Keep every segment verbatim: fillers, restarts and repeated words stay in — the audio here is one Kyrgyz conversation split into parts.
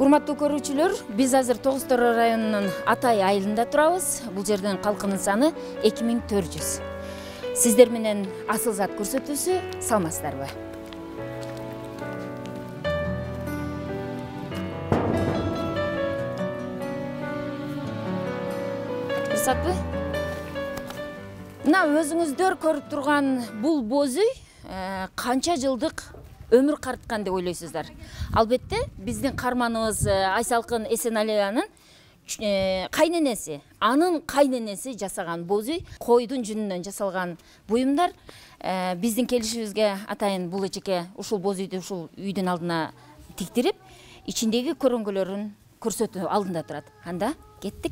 Урматтуу көрүүчүлөр, биз азыр Тогуз Тороо районунун Атай айылында турабыз. Бул жердин калкынын саны эки миң төрт жүз. Сиздер менен асыл зат көрсөтүүсү, саламатсыздарбы? Ырсатпы? Мына өзүңүздөр көрүп турган бул боз үй канча жылдык өмүр карткан деп ойлойсуздар? Албетте, биздин каарманыбыз Айсалкын Эсеналиянын кайненеси, анын кайненеси жасаган боз үй, койдун жүнүнөн жасалган буюмдар. Биздин келишибизге атайын бул эчеке ушул боз үйдү ушул үйдүн алдына тиктирип, ичиндеги көрөңгөлөрүн көрсөтүү алдында турат. Анда кеттик.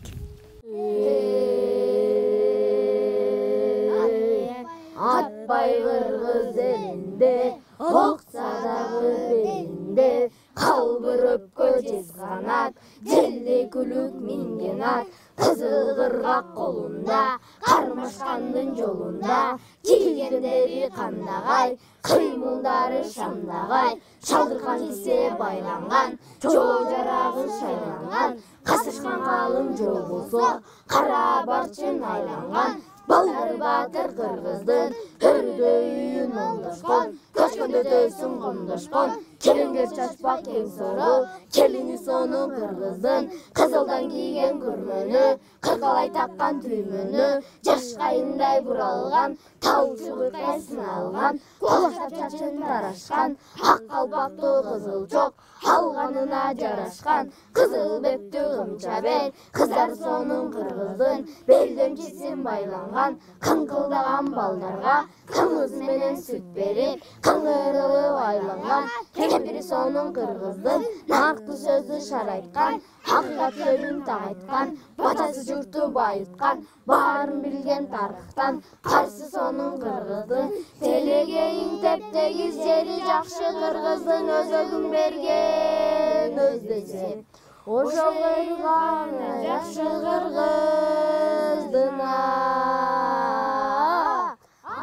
Атпай кыргыз элинде, окса дагы белинде, калбырып көчөс канат, желе күлүк минген ат, кызыл кыргак колунда, кармашкандын жолунда, кийгендери кандагай, кыймылдары шамдагай, шалдыркан кисе байланган, жоо жарагы шайланган, касышкан калың жоо болсо, кара барчын айланган, балдары батыр кыргыздын, өрдө үйүн оңдошкон, көчкөндө төсүн коңдошкон, келингер чачпак кең сору, келини сону кыргыздын, кызылдан кийген күрмөнү, кыркалай таккан түймөнү, жаш кайындай буралган, табылчу кыркайсын алган, колоштап чачын тарашкан, ак калпактуу кызыл чок, алганына жарашкан, кызыл беттүү кымча бел, кыздар сонун кыргыздын, белдемчисин байланган, кыңкылдаган балдарга, кымыз менен сүт берип, кыңырылып айланган, кемпири сонун кыргыздын, наркты сөздү шарайткан, акыйкат сөзүн так айткан, батасы журтту байыткан, баарын билген тарыхтан, карсы сонун кыргыздын, телегейин тептегиз жери жакшы кыргыздын, өзөгүн берген өздесе, ошол кырган жакшы кыргыздына.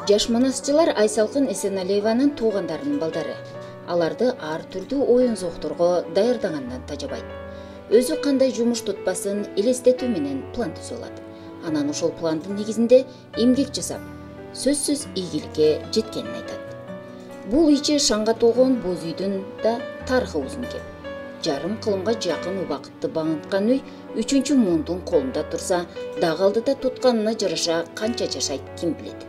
Жаш манасчылар Айсалкын Эсеналиеванын туугандарынын балдары. Аларды ар түрдүү оюн-зоокторго даярдагандан тажабайт. Өзү кандай жумуш тутпасын элестетүү менен план түзүп алат. Анан ошол пландын негизинде эмгек жасап, сөзсүз ийгиликке жеткенин айтат. Бул ичи шаңга толгон боз үйдүн да тарыхы узун кеп. Жарым кылымга жакын убакытты багынткан үй үчүнчү муундун колунда турса, дагы алдыда тутканына жараша канча жашайт ким билет.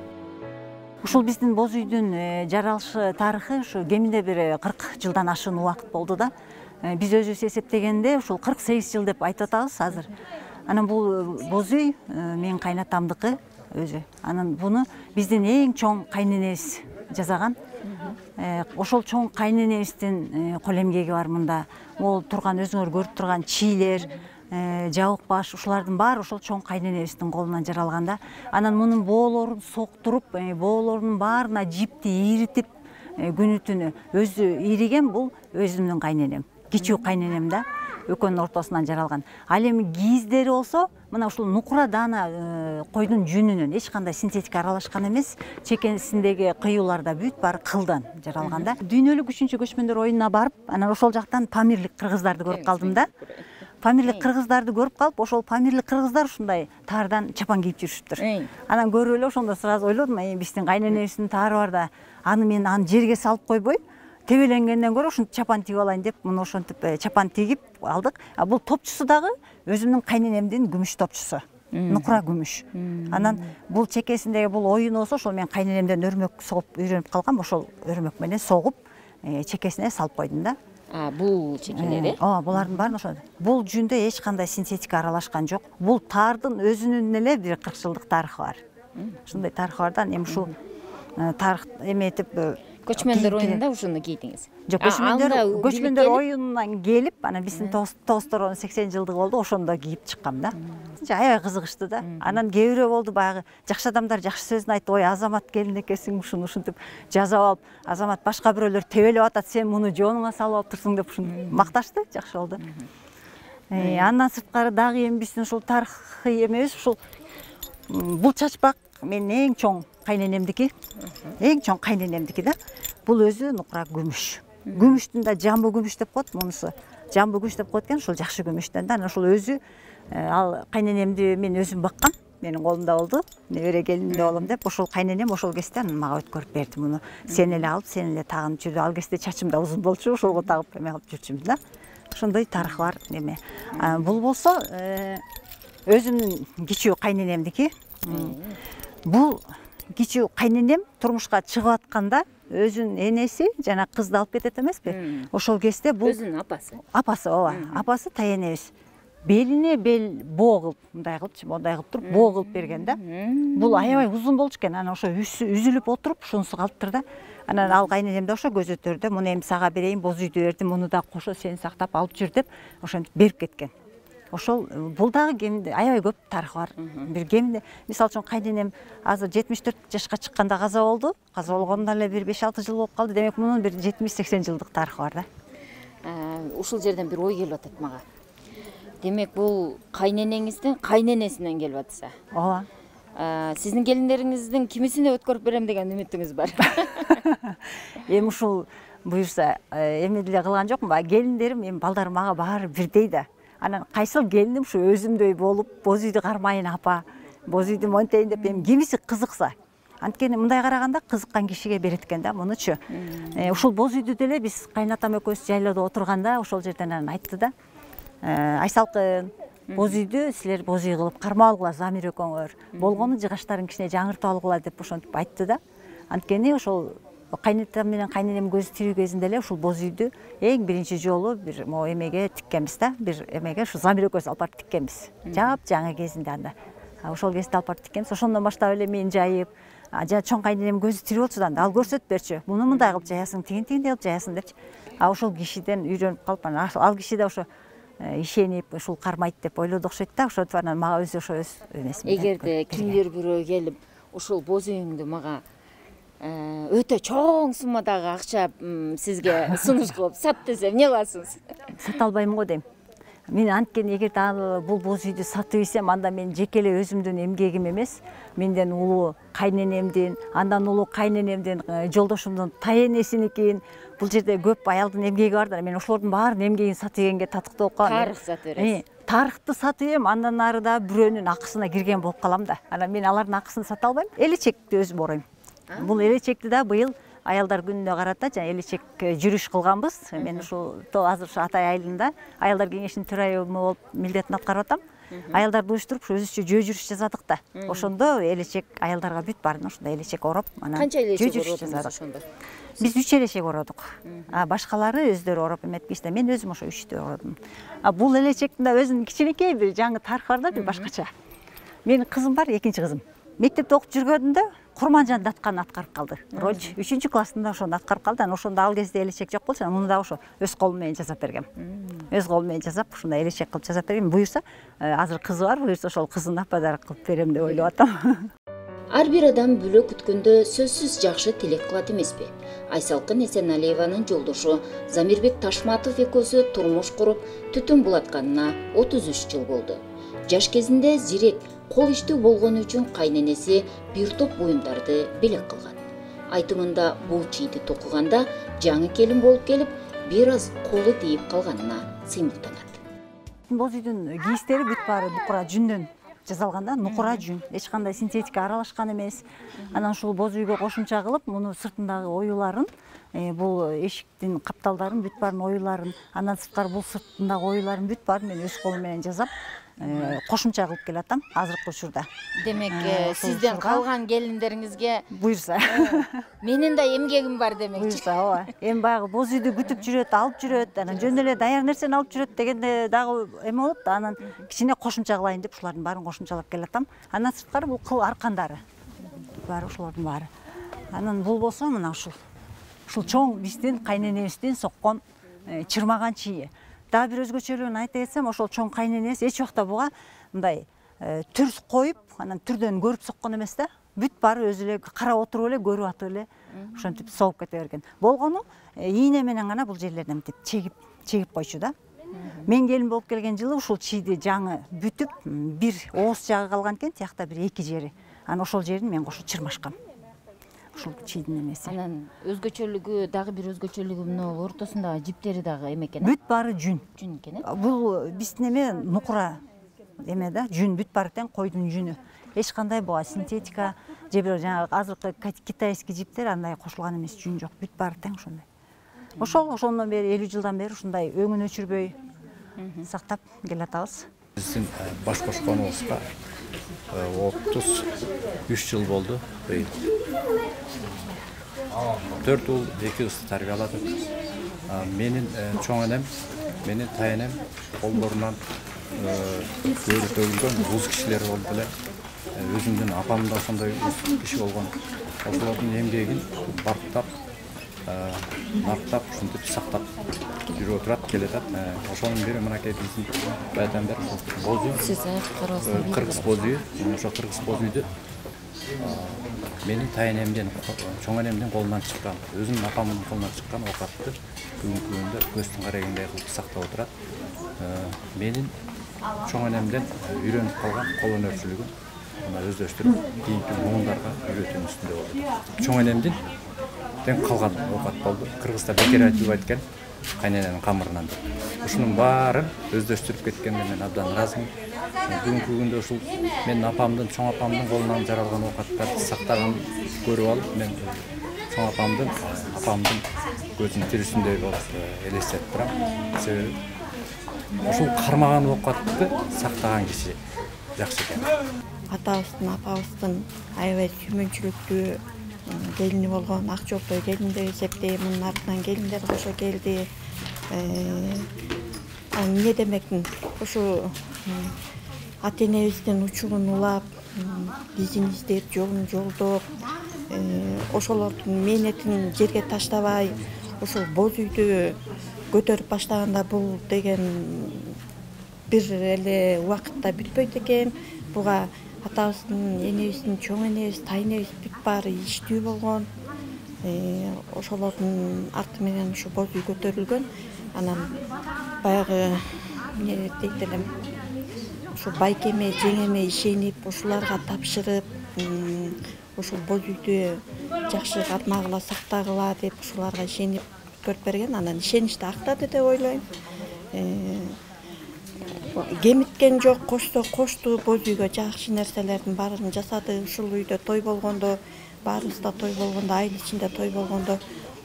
Ушул биздин боз үйдүн жаралышы тарыхы ушу кеминде бир кырк жылдан ашык убакыт болду да. Биз өзүбүз эсептегенде ушул кырк сегиз жыл деп айтып атабыз азыр. Анан бул боз үй менин кайнатамдыкы өзү. Анан буну биздин эң чоң кайненебиз жасаган. Ошол чоң кайненебиздин кол эмгеги бар мында. Ол турган өзүңөр көрүп турган чийлер, жабык баш, ушулардын баары ошол чоң кайненебиздин колунан жаралган да. Анан мунун боолорун соктуруп, боолорунун баарына жипти ийритип, күнү түнү өзү ийриген бул өзүмдүн кайненем. Кичүү кайненем да, экөөнүн ортосунан жаралган. Ал эми кийиздери болсо, мына ушул нукура даана койдун жүнүнөн, эч кандай синтетика аралашкан эмес. Чекесиндеги кыюулар да бүт баары кылдан жаралган да. Дүйнөлүк үчүнчү көчмөндөр оюнуна барып, анан ошол жактан памирлик кыргыздарды көрүп калдым да. Памирлик кыргыздарды көрүп калып, ошол памирлик кыргыздар ушундай таардан чапан кийип жүрүшүптүр. Анан көрүп эле ошондо сразу ойлодум, биздин кайненебиздин таары бар да, аны мен аны жерге салып койбой, тебеленгенден көрө ушинтип чапан тигип алайын деп, муну ошентип чапан тигип алдык. А бул топчусу дагы өзүмдүн кайненемдин күмүш топчусу. Нукура күмүш. Анан бул чекесиндеги бул оюн болсо, ошол мен кайненемден өрмөк согуп үйрөнүп калгам, ошол өрмөк менен согуп чекесине салып койдум да. А бул чекелери? Ооба, булардын баарын ошол. Бул жүндө эч кандай синтетика аралашкан жок. Бул таардын өзүнүн эле бир кырк жылдык тарыхы бар. Ушундай тарыхы бар да, эми ушул тарых эметип көчмөндөр оюнунда ушуну кийдиңиз. Жок, көчмөндөр көчмөндөр оюнунан келип, анан биздин Тогуз Тороонун сексен жылдыгы болду, ошондо кийип чыккам да. Аябай кызыгыштуу да. Анан кээ бирөө болду баягы жакшы адамдар жакшы сөзүн айтып, ой, Азамат келин экенсиң, ушуну ушинтип жазап алып, Азамат башка бирөөлөр тебелеп атат, сен муну жонуңа салып алыптырсың деп ушинтип макташты, жакшы болду. Андан сырткары дагы эми биздин ушул тарыхый эмебиз, ушул бул чачпак менин эң чоң кайненемдики, эң чоң кайненемдики да. Бул өзү нукура күмүш. Күмүштүн да жамбы күмүш деп коет, мунусу жамбы күмүш деп коет экен, ошол жакшы күмүштөн да. Анан ошол өзү ал кайненемди мен өзүм баккам. Менин колумда болду. Небере келинде болом деп, ошол кайненем ошол кезде анан мага өткөрүп берди муну. Сен эле алып, сен эле тагынып жүрдү. Ал кезде чачым да узун болчу, ошолго тагып эме кылып жүрчүмүн да. Ошондой тарыхы бар неме. Бул болсо өзүмдүн кичүү кайненемдики. Бул кичүү кайненем турмушка чыгып атканда өзүнүн энеси жана кызды алып кетет эмеспи? Ошол кезде бул өзүнүн апасы. Апасы, ооба. Апасы таянебиз. Белине бел боо кылып, мындай кылыпчы, мындай кылып туруп боо кылып берген да. Бул аябай узун болчу экен. Анан ошо үзүлүп отуруп, ушунусу калыптыр да. Анан ал кайненем да ошо көзөтөрдө, муну эми сага берейин, боз үйдү бердим, муну да кошо сен сактап алып жүр деп, ошентип берип кеткен. Ошол бул дагы кеминде аябай көп тарыхы бар. Бир кеминде, мисалы үчүн кайненем азыр жетимиш төрт жашка чыкканда каза болду. Каза болгондо эле бир беш алты жыл болуп калды. Демек мунун бир жетимиш сексен жылдык тарыхы бар да. Ушул жерден бир ой келип атат мага. Демек бул кайненеңиздин кайненесинен келип атса. Ооба. Сиздин келиндериңиздин кимисине өткөрүп берем деген үмүтүңүз бар. Эми ушул буюрса эме деле кылган жокмун. Келиндерим, эми балдарым мага баары бирдей да. Анан кайсыл келиним ушу өзүмдөй болуп, боз үйдү кармайын апа, боз үйдү монтейин деп, эми кимиси кызыкса. Анткени мындай караганда кызыккан кишиге берет экен да, мунучу. Ушул боз үйдү деле биз кайнатам экөөбүз жайлоодо отурганда ошол жерден анан айтты да. Айсалкын, боз үйдү силер боз үй кылып кармап алгыла Замир экөөңөр. Болгону жыгаштарын кичине жаңыртып алгыла деп ошентип айтты да. Анткени ошол кайнатам менен кайненем көзү тирүү кезинде эле ушул боз үйдү эң биринчи жолу бир могу эмеге тиккенбиз да. Бир эмеге ушу Замир экөөбүз алып барып тиккенбиз. Жап жаңы кезинде анда. Ошол кезде алып барып тиккенбиз. Ошондон баштап эле мен жайып, жана чоң кайненем көзү тирүү болчу да, ал көрсөтүп берчү. Муну мындай кылып жаясың, тигин тигиндей кылып жаясың депчи. А ошол кишиден үйрөнүп калып, анан ал киши да ошо ишенип, ушул кармайт деп ойлоду окшойт да. Ошентип анан мага өзү ошо өз эмесин. Эгерде кимдир бирөө келип, ушул боз үйүңдү мага өтө чоң суммадагы акча сизге сунуш кылып сат десе эмне кыласыз? Сата албайм го дейм. Мен анткени эгерде ал бул боз үйдү сатып ийсем, анда мен жеке эле өзүмдүн эмгегим эмес, менден улуу кайненемдин, андан улуу кайненемдин, жолдошумдун таянесиникин, бул жерде көп аялдын эмгеги бар да. Мен ошолордун баарынын эмгегин сатып ийгенге татыктуу болуп калам. Тарых сатып бересиз. Тарыхты сатып ийем, андан ары да бирөөнүн акысына кирген болуп калам да. Анан мен алардын акысын сата албайм. Элечекти өзүм ороюм. Бул элечекти да быйыл аялдар күнүнө карата жана элечек жүрүш кылганбыз. Мен ушул азыр ушу Атай айылында аялдар кеңешинин төрайымы болуп милдетин аткарып атам. Аялдарды уюштуруп өзүчө жөө жүрүш жасадык да. Ошондо элечек аялдарга бүт баарын ошондой элечек ороп, анан канча элечек жасадык ошондо? Биз үч элечек ородук. А башкалары өздөрү ороп эметпейт да. Мен өзүм ошо үчтү ородум. А бул элечектин да өзүнүн кичинекей бир жаңы тарыхы бар да, бир башкача. Менин кызым бар, экинчи кызым. Мектепте окуп жүргөндө Курманжан Даткан аткарып калды. Роль үчүнчү классында ошону аткарып калды. Анан ошондо ал кезде элечек жок болчу, муну да ошо өз колум менен жасап бергем. Өз колум менен жасап, ушундай элечек кылып жасап бергем. Буюрса, азыр кызы бар, буюрса ошол кызына подарок кылып берем деп ойлоп атам. Ар бир адам бүлө күткөндө сөзсүз жакшы тилек кылат эмеспи? Айсалкын Эсеналиеванын жолдошу Замирбек Ташматов экөөсү турмуш куруп, түтүн булатканына отуз үч жыл болду. Жаш кезинде зирек, кол иштүү болгону үчүн кайненеси бир топ буюмдарды белек кылган. Айтымында бул чийди токуганда жаңы келин болуп келип, бир аз колу тийип калганына сыймыктанат. Боз үйдүн кийиштери бүт баары нукура жүндөн жасалган да, нукура жүн. Эч кандай синтетика аралашкан эмес. Анан ушул боз үйгө кошумча кылып, муну сыртындагы оюларын, бул эшиктин капталдарын бүт баарын оюларын, андан сырткары бул сыртындагы оюларын бүт баарын мен өз колум менен жасап, кошумча кылып келатам азыркы учурда. Демек, сизден калган келиндериңизге буюрса, менин да эмгегим бар демекчи. Буюрса, ооба. Эми баягы боз үйдү күтүп жүрөт, алып жүрөт, анан жөн эле даяр нерсени алып жүрөт дегенде дагы эме болот да, анан кичине кошумча кылайын деп ушулардын баарын кошумчалап келатам. Андан сырткары бул кыл аркандары. Баары ушулардын баары. Анан бул болсо мына ушул. Ушул чоң биздин кайненебиздин соккон чырмаган чийи. Дагы бир өзгөчөлүгүн айта кетсем, ошол чоң кайненеси эч убакта буга мындай түрс коюп, анан түрдөн көрүп соккон эмес да. Бүт баары өзү эле карап отуруп эле, көрүп атып эле ошентип согуп кете берген. Болгону ийне менен гана бул жерлерден мынтип чегип, чегип койчу да. Мен келин болуп келген жылы ушул чийди жаңы бүтүп, бир ооз жагы калган экен, тиякта бир эки жери. Анан ошол жерин мен кошо чырмашкам. ушул чийдин эмеси. Анан өзгөчөлүгү дагы бир өзгөчөлүгү мына ортосундагы жиптери дагы эме экен. Бүт баары жүн. Жүн экен э? Бул биздин эме нукура эме да, жүн, бүт баары тең койдун жүнү. Эч кандай буга синтетика же бир жанагы азыркы китайский жиптер андай кошулган эмес, жүн жок, бүт баары тең ошондой. Ошол ошондон бери элүү жылдан бери ушундай өңүн өчүрбөй сактап келатабыз. Биздин баш кошконубузга отуз үч жыл болду быйыл. төрт уул, эки кызды тарбияладык. Менин чоң энем, менин тайенем колдорунан көөрү төгүлгөн уз кишилер болуп эле. Өзүмдүн апам да ошондой киши болгон. Ошолордун эмгегин барктап, нарктап, ушинтип сактап жүрүп турат, келатат. Ошонун бири мынакей биздин баягыдан бери боз үй. Сиз карабастан Кыргыз боз үйү. Ошо кыргыз боз үйдү менин тайенемден, чоң энемдин колунан чыккан, өзүнүн апамдын колунан чыккан оокатты бүгүнкү күндө көздүн карагандай кылып сактап отурат. Менин чоң энемден үйрөнүп калган кол өнөрчүлүгүн мына өздөштүрүп, кийинки муундарга үйрөтүүнүн үстүндө болду. Чоң энемдин тең калган оокат болду. Кыргызда бекер айтып айткан кайнененин камырынан деп. Ушунун баарын өздөштүрүп кеткенге мен абдан ыраазымын. Бүгүнкү күндө ушул менин апамдын, чоң апамдын колунан жаралган оокаттарды сактаганын көрүп алып, мен чоң апамдын, апамдын көзүнүн тирүүсүндөй болуп элестетип турам. Себеби ушул кармаган оокатты сактаган киши жакшы экен. Атабыздын, апабыздын аябай сүймөнчүлүктүү келини болгон, ак жолтой келин деп эсептейм. Мунун артынан келиндер кошо келди. Эмне демекмин? Ушу ата энебиздин учурун улап, изин издеп, жолун жолдоп, ошолордун мээнетин жерге таштабай, ошол боз үйдү көтөрүп баштаганда бул деген бир эле убакытта бүтпөйт экен. Буга атабыздын, энебиздин, чоң энебиз, тайенебиз бүт баары иштүү болгон. Ошолордун арты менен ушу боз үй көтөрүлгөн. Анан баягы эмне дейт элем, ушу байкеме, жеңеме ишенип, ушуларга тапшырып, ушул боз үйдү жакшы кармагыла, сактагыла деп ушуларга ишенип көрүп берген. Анан ишеничти актады деп ойлойм. Кемиткен жок, кошсо кошту, боз үйгө жакшы нерселердин баарын жасады. Ушул үйдө той болгондо, баарыбыз да той болгондо, айыл ичинде той болгондо,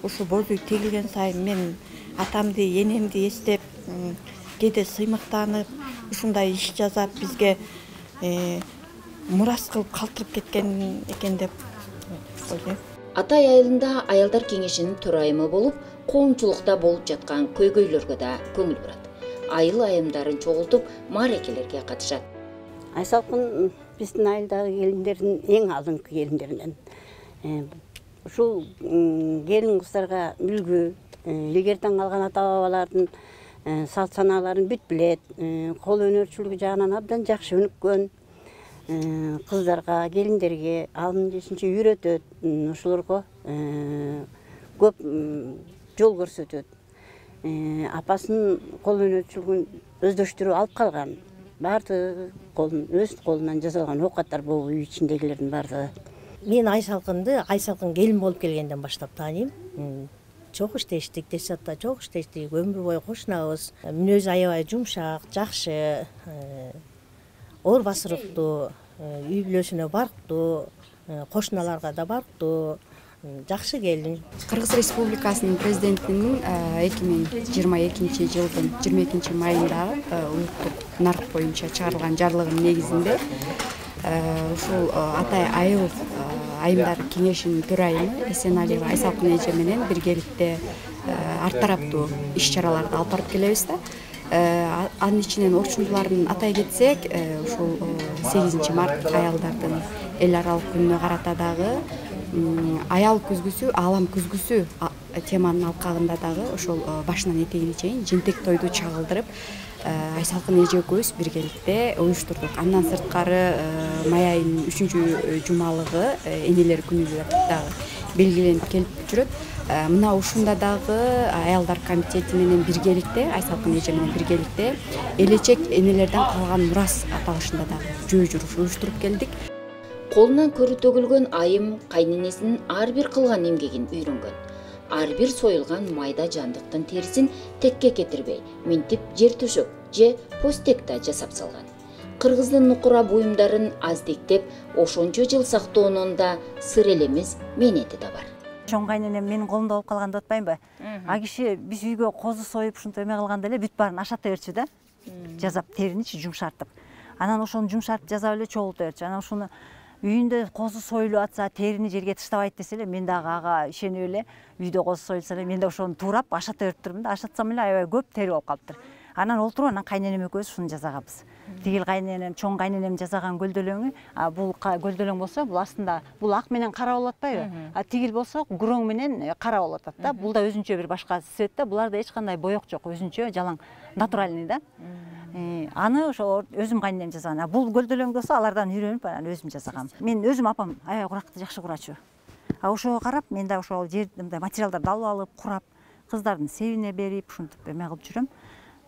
ушу боз үй тегилген сайын мен атамды, энемди эстеп, кээде сыймыктанып, ушундай иш жасап бизге мурас кылып калтырып кеткен экен деп ойлойм. Атай айылында аялдар кеңешинин төрайымы болуп, коомчулукта болуп жаткан көйгөйлөргө да көңүл бурат. Айыл айымдарын чогултуп, мааракелерге катышат. Айсалкын биздин айылдагы келиндердин эң алдыңкы келиндеринен. Ушул келин кыздарга үлгү, илгертен калган ата бабалардын салт санааларын бүт билет, кол өнөрчүлүгү жагынан абдан жакшы өнүккөн. Кыздарга, келиндерге алын жешинче үйрөтөт, ошолорго көп жол көрсөтөт. Апасынын кол өнөрчүлүгүн өздөштүрүп алып калган. Баардыгы колун өз колунан жасалган оокаттар бул үй ичиндегилердин баардыгы. Мен Айсалкынды Айсалкын келин болуп келгенден баштап тааныйм. Чок иштештик, Десятта чок иштештик, өмүр бою кошунабыз. Мүнөзү аябай жумшак, жакшы, оор басырыктуу, үй бүлөсүнө барктуу, кошуналарга да барктуу, жакшы келин. Кыргыз Республикасынын президентинин эки миң жыйырма экинчи жылдын жыйырма экинчи майындагы улуттук нарк боюнча чыгарылган жарлыгынын негизинде ушул Атай айыл айымдар кеңешинин төрайымы Эсеналиева Айсалкын эже менен биргеликте ар тараптуу иш чараларды алып барып келебиз да. Анын ичинен орчундулардын атай кетсек, ушул сегизинчи март аялдардын эл аралык күнүнө карата дагы аял күзгүсү, аалам күзгүсү теманын алкагында дагы ошол башынан этегине чейин жентек тойду чагылдырып Айсалкын эже экөөбүз биргеликте уюштурдук. Андан сырткары май айынын үчүнчү жумалыгы энелер күнү деп дагы белгиленип келип жүрөт. Мына ушунда дагы аялдар комитети менен биргеликте, Айсалкын эже менен биргеликте элечек энелерден калган мурас аталышында дагы жөө жүрүш уюштуруп келдик. Колунан көрү төгүлгөн айым кайненесинин ар бир кылган эмгегин үйрөнгөн. Ар бир союлган майда жандыктын терисин текке кетирбей, минтип жер төшөк же постекта жасап салган. Кыргыздын нукура буюмдарын аздектеп, ошончо жыл сактоонун да сыр элемес мээнети да бар. Чоң кайненем менин колумда болуп калганды атпайбы? А киши биз үйгө козу союп ушинтип эме кылганда эле бүт баарын ашата берчү да. Жазап териничи жумшартып. Анан ошону жумшартып жасап эле чогулта берчү. Анан ушуну үйүндө козу союлуп атса, терини жерге таштабайт десе эле, мен дагы ага ишенип эле үйдө козу союлса эле мен да ошону туурап ашата берип турмун да. Ашатсам эле аябай көп тери болуп калыптыр. Анан олтуруп анан кайненем экөөбүз ушуну жасаганбыз. Тигил кайненем, чоң кайненем жасаган гөлдөлөңү, а бул гөлдөлөң болсо, бул астында бул ак менен кара болуп атпайбы? А тигил болсо гүрөң менен кара болуп атат да. Бул да өзүнчө бир башка цвет да. Буларда эч кандай боек жок, өзүнчө жалаң натуральный да. Аны ошо өзүм кайненем жасаган. А бул гөлдөлөң болсо алардан үйрөнүп анан өзүм жасагам. Мен өзүм апам аябай куракты жакшы курачу. А ошого карап мен да ошол жерди мындай материалдарды алып алып, курап, кыздардын себине берип, ушинтип эме кылып жүрөм.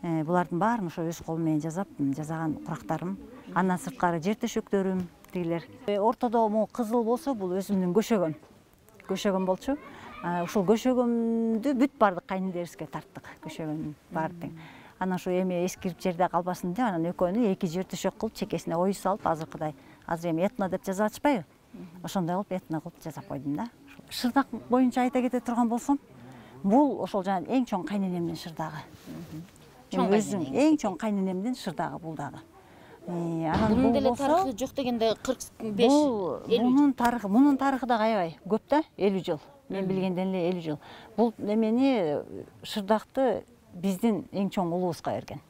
Булардын баарын ошо өз колум менен жасап, жасаган курактарым. Андан сырткары жер төшөктөрүм тигилер. Ортодо могу кызыл болсо, бул өзүмдүн көшөгөм. Көшөгөм болчу. Ушул көшөгөмдү бүт баардык кайнендерибизге тарттык. Көшөгөмдүн баары тең. Анан ошо эме эскирип жерде калбасын деп, анан экөөнү эки жер төшөк кылып, чекесине ою салып, азыркыдай, азыр эми этно деп жазып атышпайбы? Ошондой кылып этно кылып жасап койдум да. Шырдак боюнча айта кете турган болсом, бул ошол жана эң чоң кайненемдин шырдагы. Өзүм эң чоң кайненемдин шырдагы бул дагы. Анан бунун деле тарыхы жок дегенде кырк беш элүү. Бунун тарыхы, мунун тарыхы дагы аябай көп да, элүү жыл. Мен билгенден эле элүү жыл. Бул эмени шырдакты биздин эң чоң улубузга берген.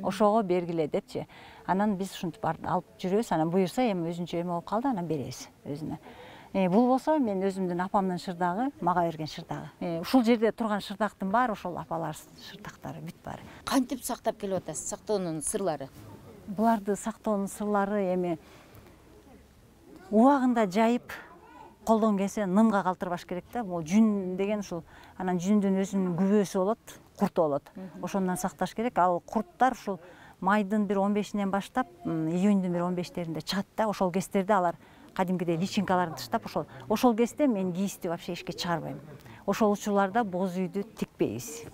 Ошого бергиле депчи. Анан биз ушинтип алып жүрөбүз. Анан буюрса эми өзүнчө эме болуп калды, анан беребиз өзүнө. Бул болсо мен өзүмдүн апамдын шырдагы, мага берген шырдагы. Ушул жерде турган шырдактын баары ошол апалар шырдактары бүт баары. Кантип сактап келип атасыз сактоонун сырлары? Буларды сактоонун сырлары эми убагында жайып, колдон келсе нымга калтырбаш керек да. Бул жүн деген ушул, анан жүндүн өзүнүн күбөсү болот, курту болот. Ошондон сакташ керек. Ал курттар ушул майдын бир он бешинен баштап, июньдун бир он бештеринде чыгат да. Ошол кездерде алар кадимкидей личинкаларын таштап, ошол ошол кезде мен кийизди вообще эшикке чыгарбайм. Ошол учурларда боз үйдү тикпейбиз.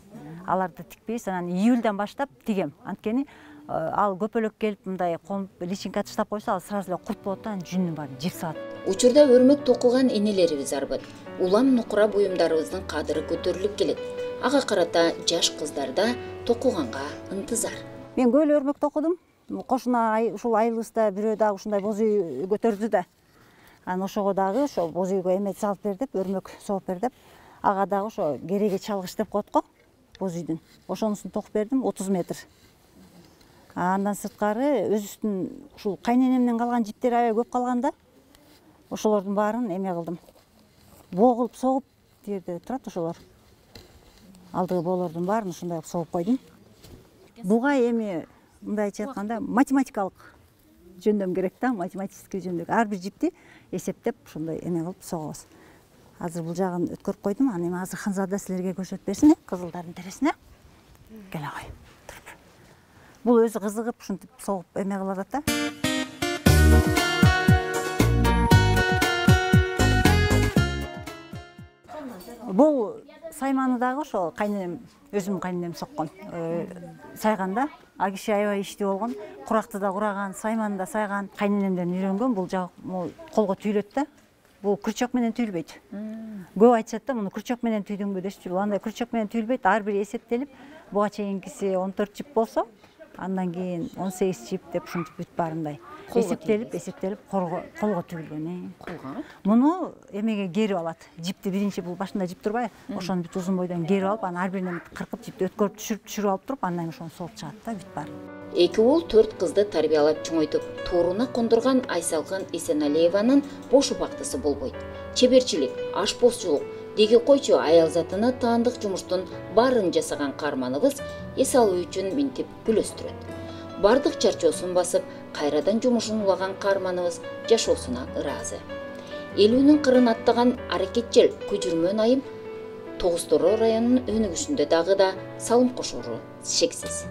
Аларды тикпейбиз. Анан июльдан баштап тигем. Анткени ал көпөлөк келип мындай личинка таштап койсо, ал сразу эле курт болот да, жүнүн баарын жеп салат. Учурда өрмөк токуган энелерибиз арбыт. Улам нукура буюмдарыбыздын кадыры көтөрүлүп келет. Ага карата жаш кыздарда токуганга ынтызар. Мен көп өрмөк токудум. Кошуна ушул айылыбызда бирөө дагы ушундай боз үй көтөрдү да. Анан ошого дагы ошо боз үйгө эме салып бер деп, өрмөк согуп бер деп, ага дагы ошо кереге чалгыч деп коет го, боз үйдүн. Ошонусун токуп бердим, отуз метр. Андан сырткары өзүбүздүн ушул кайненемден калган жиптер аябай көп калганда, ошолордун баарын эме кылдым. Боо кылып согуп, жерде турат ошолор. Алдыгы боолордун баарын ушундай кылып согуп койдум. Буга эми мындайча айтканда математикалык жөндөм керек да, математический жөндөм. Ар бир жипти эсептеп ушундай эме кылып согобуз. Азыр бул жагын өткөрүп койдум. Аны эми азыр Ханзада силерге көрсөтүп берсин, кызылдардын тересине. Келе кой. Бул өзү кызыгып ушинтип согуп эме кылып атат да. Бул сайманы дагы ошо кайненем, өзүм кайненем соккон. Сайганда а киши аябай иштүү болгон, куракты да кураган, сайманы да сайган, кайненемден үйрөнгөн. Бул жак колго түйүлөт да. Бул күрчөк менен түйүлбөйт. Көп айтышат да, муну күрчөк менен түйдүңбү дешчү. Бул андай күрчөк менен түйүлбөйт. Ар бир эсептелип, буга чейинкиси он төрт жип болсо, андан кийин он сегиз жип деп ушинтип бүт баарындай эсептелип, эсептелип колго колго түйүлгөн. Колго? Муну эмеге керип алат. Жипти биринчи бул башында жип турбайбы? Ошону бүт узун бойдон керип алып, анан ар биринен кыркып жипти өткөрүп түшүрүп түшүрүп алып туруп, андан ошону согуп чыгат да бүт баары. Эки уул төрт кызды тарбиялап чоңойтуп, тууруна кондурган Айсалкын Эсеналиеванын бош убактысы болбойт. Чеберчилик, ашпозчулук, деги койчу аял затына таандык жумуштун баарын жасаган каарманыбыз эс алуу үчүн минтип күлөстүрөт. Бардык чарчоосун басып, кайрадан жумушун улаган каарманыбыз жашоосуна ыраазы. Элүүнүн кырын аттаган аракетчил Күжүрмөн айым Тогуз Тороо районунун өнүгүшүндө дагы да салым кошору шексиз.